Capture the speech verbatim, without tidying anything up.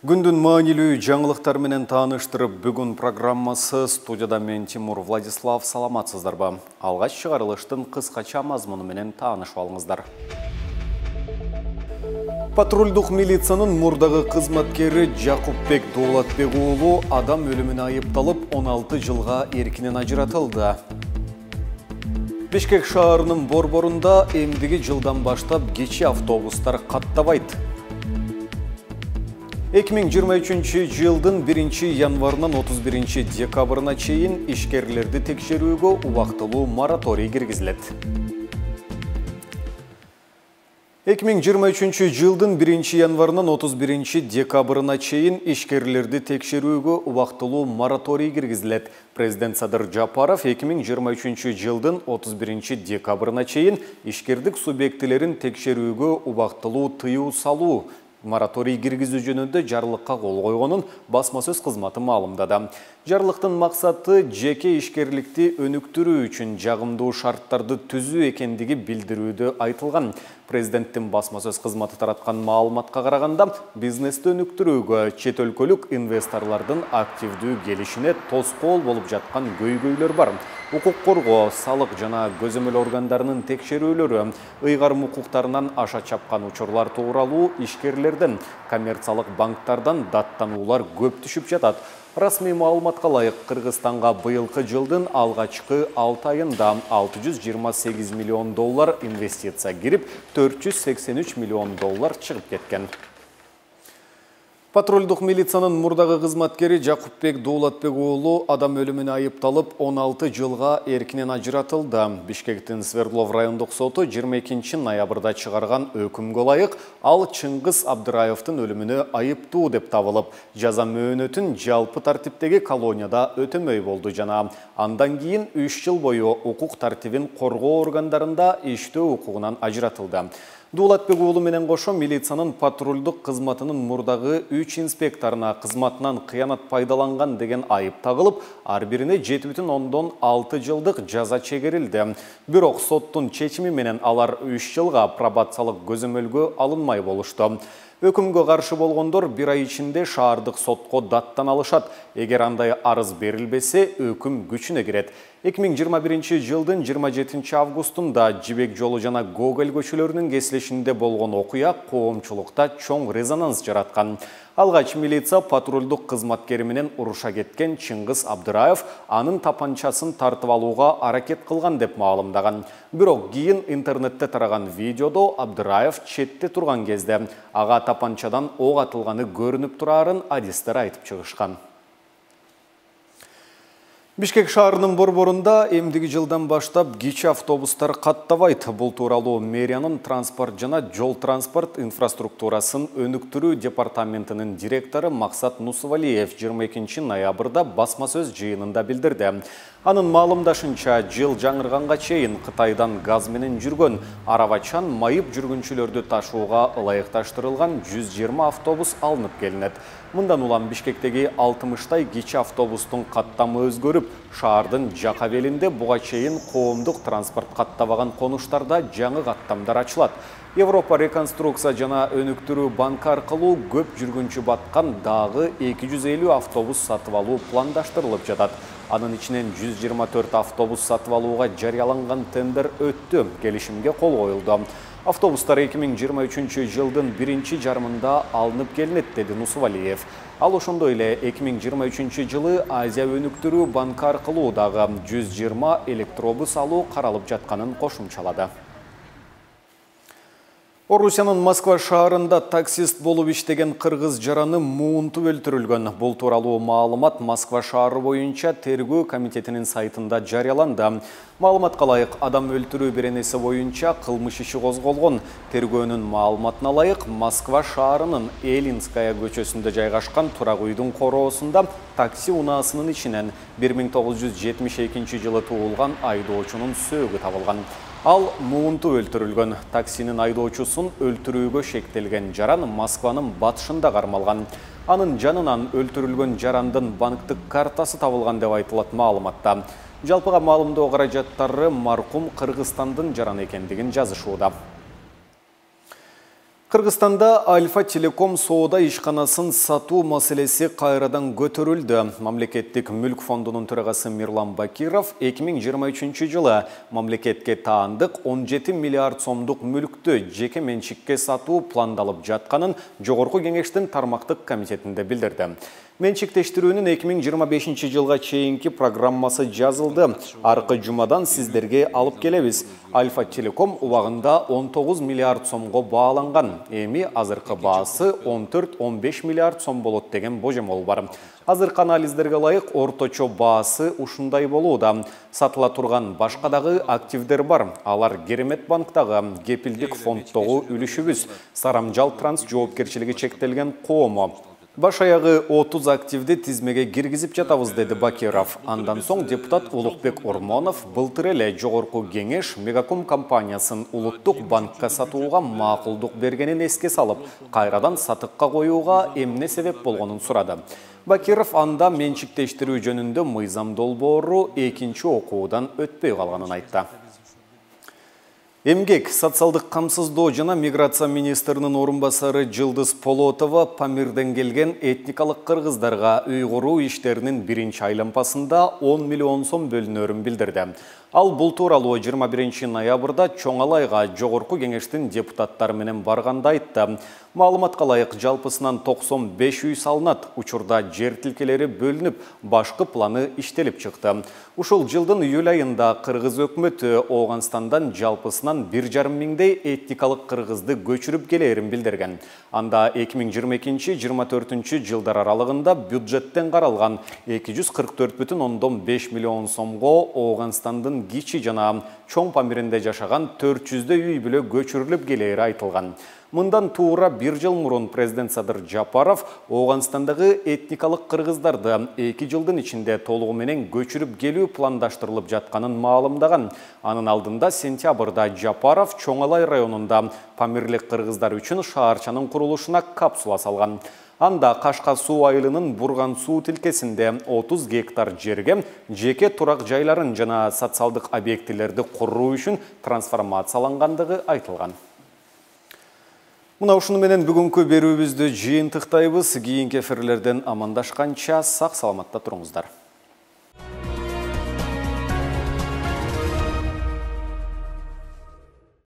Күндүн маанилүү жаңылыктар менен тааныштырып, бүгүн программасы студияда мен Тимур Владислав. Саламатсыздарбы? Алгач чыгарылыштын кыскача мазмуну менен таанышып алыңыздар. Патрулдук милициянын мурдагы кызматкери Жакупбек Дуулатбек уулу адам өлүмүнө айыпталып, он алты жылга эркинен ажыратылды. Бишкек шаарынын борборунда эмдиги жылдан баштап кечи автобустар каттабайт. эки миң жыйырма үчүнчү жылдын биринчи январынан отуз биринчи декабрына чейин ишкерлерди текшерүүгө убактылуу мораторий киргизилет. эки миң жыйырма үчүнчү жылдын биринчи январынан отуз биринчи декабрына чейин ишкерлерди текшерүүгө убактылуу мораторий киргизилет. Президент Садыр Жапаров эки миң жыйырма үчүнчү жылдын отуз биринчи декабрына чейин ишкердик субъектилерин текшерүүгө убактылуу тыюу салуу мораторий киргизүү жөнүндө жарлыкка кол койгонун басма сөз кызматы маалымдады. Жарлыктын максаты жеке ишкерликти өнүктүрүү үчүн жагымдуу шарттарды түзүү экендиги билдирүүдө айтылган. Президенттин басма сөз кызматы тараткан маалыматка караганда, бизнести өнүктүрүүгө чет өлкөлүк инвесторлордун активдүү келишине тоскоол болуп жаткан көйгөйлөр бар. Укук коргоо, салык жана көзөмөл органдарынын текшерүүлөрү, ыйгарым укуктарынан аша чапкан учурлар тууралуу ишкерлерден, коммерциялык банктардан даттануулар көп түшүп жатат. Расмий маалыматка ылайык, Кыргызстанга быйылкы жылдын алгачкы алты айында алты жүз жыйырма сегиз миллион доллар инвестиция кирип, төрт жүз сексен үч миллион доллар чыгып кеткен. Патрулдук милициянын мурдагы кызматкери Жакупбек Дуулатбек уулу адам өлүмүнө айыпталып, он алты жылга эркинен ажыратылды. Бишкектин Свердлов райондук соту жыйырма экинчи ноябрда чыгарган өкүмгө ылайык ал Чыңгыз Абдыраевдин өлүмүнө айыптуу деп табылып, жаза мөөнөтүн жалпы тартиптеги колонияда өтөмөй болду жана андан кийин үч жыл бою укук тартибин коргоо органдарында иштөө укугунан ажыратылды. Дуулатбек уулу менен кошо милициянын патрулдук кызматынын мурдагы үч инспекторуна кызматынан кыянат пайдаланган деген айып тагылып, ар бирине жети бүтүн ондон алты жылдык жаза чегерилди. Бирок соттун чечими менен алар үч жылга пробациялык көзөмөлгө алынмай болушту. Өкүмгө каршы болгондор бир ай ичинде шаардык сотко даттан алышат. Эгер андай арыз берилбесе, өкүм күчүнө кирет. эки миң жыйырма биринчи жылдын жыйырма жетинчи августунда Жибек жолу жана Гоголь көчөлөрүнүн кесилишинде болгон окуя коомчулукта чоң резонанс жараткан. Алгач милиция патрулдук кызматкери менен уруша кеткен Чыңгыз Абдыраев анын тапанчасын тартып алууга аракет кылган деп маалымдаган. Бирок кийин интернетте тараган видеодо Абдыраев четте турган кезде ага тапанчадан ок атылганы көрүнүп турарын адистер айтып чыгышкан. Бишкек шаарынын борборунда эмдиги жылдан баштап кечи автобустар каттабайт. Бул тууралуу мэриянын транспорт жана жол транспорт инфраструктурасын өнүктүрүү департаментинин директору Максат Нусувалиев жыйырма экинчи ноябрда басма сөз жыйынында билдирди. Анын маалымдашынча, жыл жаңырганга чейин Кытайдан газ менен жүргөн арабачан майып жүргүнчүлөрдү ташууга ылайыкташтырылган жүз жыйырма автобус алынып келинет. Мындан улам Бишкектеги алтымыштай кечи автобустун каттамы өзгөрүп, шаардын жака белинде буга чейин коомдук транспорт каттабаган конуштарда жаңы каттамдар ачылат. Европа реконструкция жана өнүктүрүү банкы аркылуу көп жүргүнчү баткан дагы эки жүз элүү автобус сатып алуу пландаштырылып жатат. Анын ичинен жүз жыйырма төрт автобус сатып алууга жарыяланган тендер өттү, келишимге кол коюлду. Автобустар эки миң жыйырма үчүнчү жылдын биринчи жарымында алынып келинет, деди Нусувалиев. Ал ошондой эле эки миң жыйырма үчүнчү жылы Азия өнүктүрүү банкы аркылуу дагы жүз жыйырма электробус алуу каралып жатканын кошумчалады. Орусиянын Москва шаарында таксист болуп иштеген кыргыз жараны муунтуп өлтүрүлгөн. Бул тууралуу маалымат Москва шаары боюнча тергөө комитетинин сайтында жарыяланды. Маалыматка ылайык, адам өлтүрүү беренеси боюнча кылмыш иши козголгон. Тергөөнүн маалыматына ылайык, Москва шаарынын Элинская көчөсүндө жайгашкан турак үйдүн короосунда такси унаасынын ичинен бир миң тогуз жүз жетимиш экинчи жылы туулган айдоочунун сөөгү табылган. Ал муунтуп өлтүрүлгөн. Таксинин айдоочусун өлтүрүүгө шектелген жаран Москванын батышында кармалган. Анын жанынан өлтүрүлгөн жарандын банктык картасы табылган деп айтылат маалыматта. Жалпыга маалымдоо каражаттары маркум Кыргызстандын жараны экендигин жазышууда. Кыргызстанда Альфа Телеком соода ишканасын сатуу маселеси кайрадан көтөрүлдү. Мамлекеттик мүлк фондунун төрагасы Мирлан Бакиров эки миң жыйырма үчүнчү жылы мамлекетке таандык он жети миллиард сомдук мүлктү жеке менчикке сатуу пландалып жатканын Жогорку кеңештин тармактык комитетинде билдирди. Менчиктештирүүнүн эки миң жыйырма бешинчи жылга чейинки программасы жазылды. Аркы жумадан сиздерге алып келебиз. Альфа Телеком убагында он тогуз миллиард сомго бааланган. Эми азыркы баасы он төрт он беш миллиард сом болот деген божомол бар. Азыркы анализдерге ылайык орточо баасы ушундай болууда. Сатыла турган башка дагы активдер бар. Алар Керемет банктагы, кепилдик фонддогу үлүшүбүз, Сарамжал Транс жоопкерчилиги чектелген коому. Баш аягы отуз активди тизмеге киргизип жатабыз, деди Бакиров. Андан соң депутат Улукбек Ормонов былтыр эле Жогорку кеңеш Мегаком компаниясын улуттук банкка сатууга макулдук бергенин эске салып, кайрадан сатыкка коюуга эмне себеп болгонун сурады. Бакиров анда менчиктештирүү жөнүндө мыйзам долбоору экинчи окуудан өтпөй калганын айтты. Эмгек, социалдык камсыздоо жана миграция министринин орун басары Жылдыз Полотова Памирден келген этникалык кыргыздарга үй куруу иштеринин биринчи айлампасында он миллион сом бөлүнөрүн билдирди. Ал бул тууралуу жыйырма биринчи ноябрда Чоңалайга Жогорку кеңештин депутаттары менен барганда айтты. Маалыматка ылайык, жалпысынан токсон беш үй салынат. Учурда жер тилкелери бөлүнүп, башкы планы иштелип чыкты. Ушул жылдын июль айында кыргыз өкмөтү Ооганстандан жалпысынан бир жарым миңдей этникалык кыргызды көчүрүп келээрин билдирген. Анда эки миң жыйырма экинчи жыйырма төртүнчү жылдар аралыгында бюджеттен каралган эки жүз кырк төрт бүтүн ондон беш миллион сомго Ооганстандын Кичи жана Чоң Памиринде жашаган төрт жүздөй үй бүлө көчүрүлүп келери айтылган. Мындан туура бир жыл мурун президент Садыр Жапаров Ооганстандагы этникалык кыргыздарды эки жылдын ичинде толугу менен көчүрүп келүү пландаштырылып жатканын маалымдаган. Анын алдында сентябрда Жапаров Чоңалай районунда памирлик кыргыздар үчүн шаарчанын курулушуна капсула салган. Анда Кашка суу айылынын Бурган суу тилкесинде отуз гектар жерге жеке турак жайларын жана социалдык объектилерди куруу үчүн трансформациялангандыгы айтылган. Мына ушуну менен бүгүнкү берүүбүздү жыйынтыктайбыз. Кийинки эфирлерден амандашканча сак саламатта туруңуздар.